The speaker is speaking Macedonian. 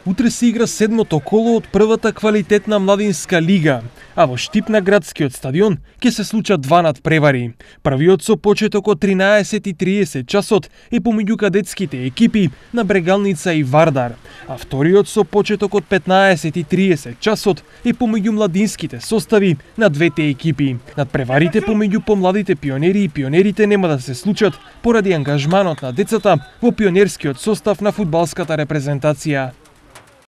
Утре се игра седмото коло од првата квалитетна младинска лига, а во Штип на градскиот стадион ќе се случат два надпревари. Првиот со почеток од 13:30 часот е помеѓу кадетските екипи на Брегалница и Вардар, а вториот со почеток од 15:30 часот е помеѓу младинските состави на двете екипи. Надпреварите помеѓу помладите пионери и пионерите нема да се случат поради ангажманот на децата во пионерскиот состав на фудбалската репрезентација.